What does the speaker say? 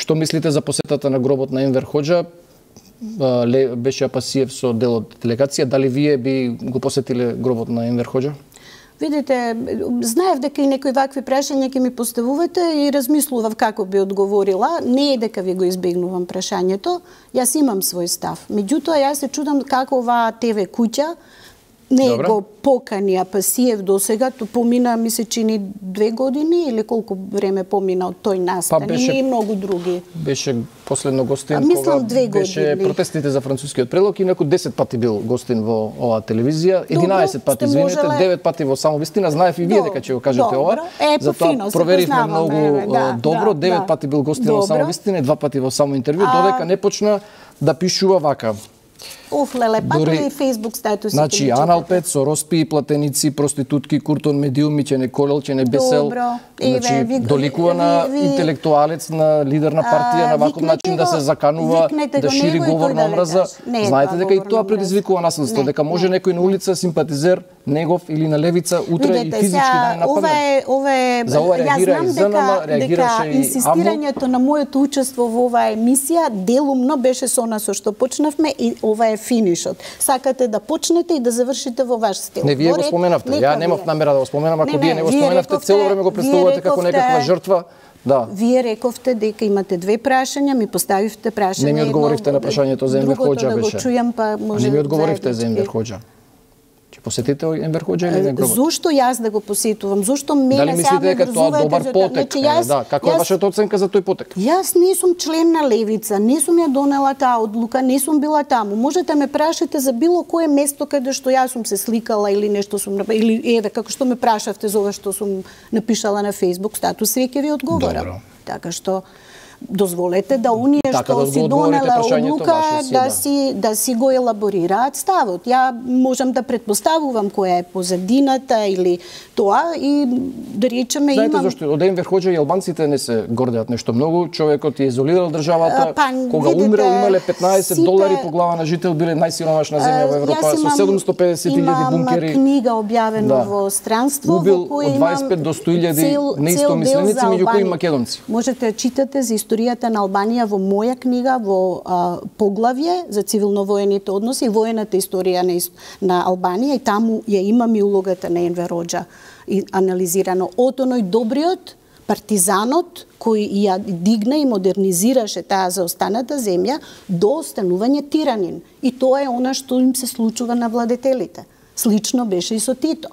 Што мислите за посетата на гробот на Енвер Хоџа? Беше Апасиев со дел од делегација. Дали вие би го посетиле гробот на Енвер Хоџа? Видите, знаев дека и некои вакви прашања ќе ми поставувате и размислував како би одговорила. Не е дека ви го избегнувам прашањето, јас имам свој став. Меѓутоа, јас се чудам како оваа ТВ куќа не го покани Апасиев досега, помина, ми се чини 2 години или колку време помина од тој настан и многу други. Беше последно гостин кога беше протестите за францускиот предлог, инаку 10 пати бил гостин во оваа телевизија, 11 пати, извинете, 9 пати во Само вистина, знаев и вие дека ќе го кажете ова. Затоа проверивме многу добро, 9 пати бил гостин во Само вистина и 2 пати во Само интервју, додека не почна да пишува вака. Офлеле, пак и Facebook статусите. Значи, Аналпет со роспи и платеници, проститутки, куртон медиуми, че не колел, че не бесел. Значи, доликува на интелектуалец, на лидер на партија, на ваков начин да се заканува, да шири говор на омраза. Знаете дека и тоа предизвикува насилство, дека може некој на улица, симпатизер, негов или на левица, утре и физички да не нападне. За ова реагира и ЗНМ, реагираше и инсистирањето на моето учество во оваа емисија делумно беше со нас со што почнавме и ова е финишот. Сакате да почнете и да завршите во ваш стил. Не, вие го споменавте. Ја немав намера да го споменам, ако вие не го споменавте, цело време го представувате како некаква жртва. Да. Вие рековте дека имате 2 прашања, ми поставивте прашање. Не ми одговоривте на прашањето за Енвер Хоџа беше. Не ми одговоривте за Енвер Хоџа. Ќе посетите Енвер Хоџа или не гробот? Зошто јас да го посетувам? Зошто мене дали мислите дека тоа добар потек? Да, каква е вашата оценка за тој потек? Јас не сум член на левица, не сум ја донела таа одлука, не сум била таму. Можете ме прашате за било кое место каде што јас сум се сликала или нешто сум или еве како што ме прашавте за ова што сум напишала на Facebook статус, све ќе ви одговорам. Така што дозволете да оние што си донела одлука да си го елаборираат ставот. Ја можам да претпоставувам која е позадината или тоа и да речеме имам... Знаете зашто? Од Енвер Хоџа и албанците не се гордеат нешто многу. Човекот е изолирал државата. Кога умрел имале $15 по глава на жител, биле најсиромашна земја во Европа со 750.000 бункери. Имам книга објавена во странство во кој имам 25 до 100.000 неистомисленици, меѓу кои македонци. Можете да читате за историјата на Албанија во моја книга во поглавје за цивилно-воените односи и воената историја на Албанија и таму ја имам и улогата на Енвер Хоџа и анализирано од оној добриот партизанот кој ја дигна и модернизираше таа заостаната земја до останување тиранин. И тоа е она што им се случува на владетелите. Слично беше и со Тито.